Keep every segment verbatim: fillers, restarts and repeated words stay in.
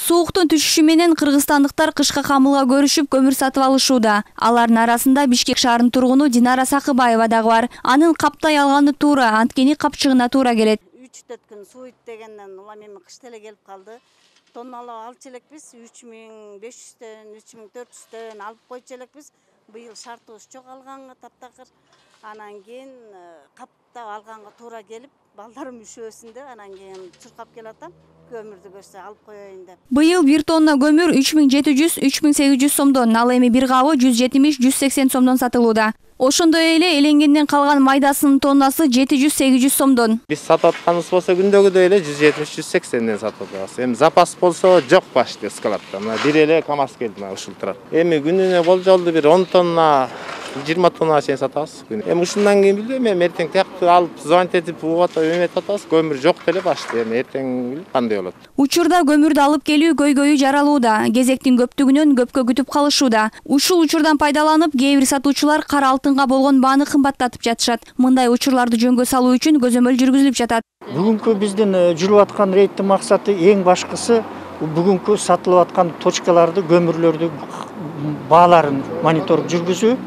Сууктун түшүшү менен кыргызстандыктар кышка камылга көрүшүп көмүр сатып алышууда. Алардын арасында Бишкек шаарынын тургуну Динара Сакыбаева дагы бар. Анын каптай алганы туура, анткени капчыгына туура келет. үч төрт күн сууйт дегенден улам эми кыш деле келип калды. Тонналап алчу элекпиз, үч миң беш жүздөн, үч миң төрт жүздөн алып койчу элекпиз. Быйыл шартыбыз жок алганга таптакыр. Анан кийин каптап алганга туура келип, балдарым üşөсүн деп, анан кийин чуркап келатам. Көмүрдү көрсө алып коеюн деп. Быйыл бир тонна көмүр үч миң жети жүз — үч миң сегиз жүз сомдон, ал эми бир кабы жүз жетимиш — жүз сексен сомдон сатылууда. Ошондой эле эленгенден калган майдасынын тоннасы жети жүз — сегиз жүз сомдон. Биз сатып атканыбыз болсо күндөгүдөй эле жүз жетимиш — жүз сексенден сатып атабыз. Эми запас болсо жок почти складта. Мына бир эле КамАЗ келди, мына ушул турат. Эми күнүнө болжолду бир он тонна, жыйырма тонна чейин сатабыз. Эми ушундан кийин билбейм, эми эртең тияктуу алып звонить этип угатып эметип атабыз. Көмүр жок деле башты. Эми эртең билип кандай болот. Учурда көмүрдү алып келүү көйгөйү жаралууда. Кезектин көптүгүнөн көпкө күтүп калышууда. Ушул учурдан пайдаланып, кээ бир сатуучулар кара алтынга болгон бааны кымбаттатып жатышат. Мындай учурларды жөнгө салуу үчүн көзөмөл жүргүзүлүп жатат. Бүгүнкү биздин жүрүп аткан рейдтин максаты эң башкысы бүгүнкү сатылып аткан точкаларды, көмүрлөрдү бааларын мониторинг жүргүзүү.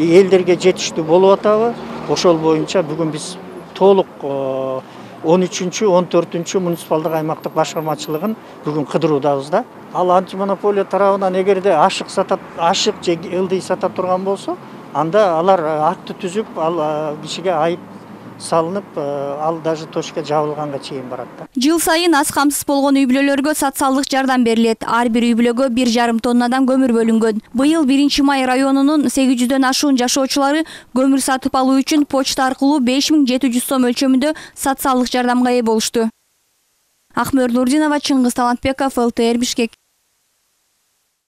Элдерге жетиштүү болуп атабы? Ошол боюнча бүгүн биз толук он үчүнчү — он төртүнчү муниципалдык аймактык башкармачылыгын бүгүн кыдыруудабыз да. Ал антимонополия тарабынан эгерде ашык сатат, ашык же ылдый сата турган болсо, анда алар акты түзүп, ал кишиге айып салынып, ал даже точка жабылганга чейин барат да. Жыл сайын аз камсыз болгон үй бүлөлөргө социалдык жардам берилет. Ар бир үй бүлөгө бир жарым тоннадан көмүр бөлүнгөн. Быйыл биринчи май районунун сегиз жүздөн ашуун жашоочулары көмүр сатып алуу үчүн почта аркылуу беш миң жети жүз сом өлчөмүндө социалдык жардамга ээ болушту. Акмөр Нурдинова, Чыңгыз Талантбеков, эл тэ эр Бишкек.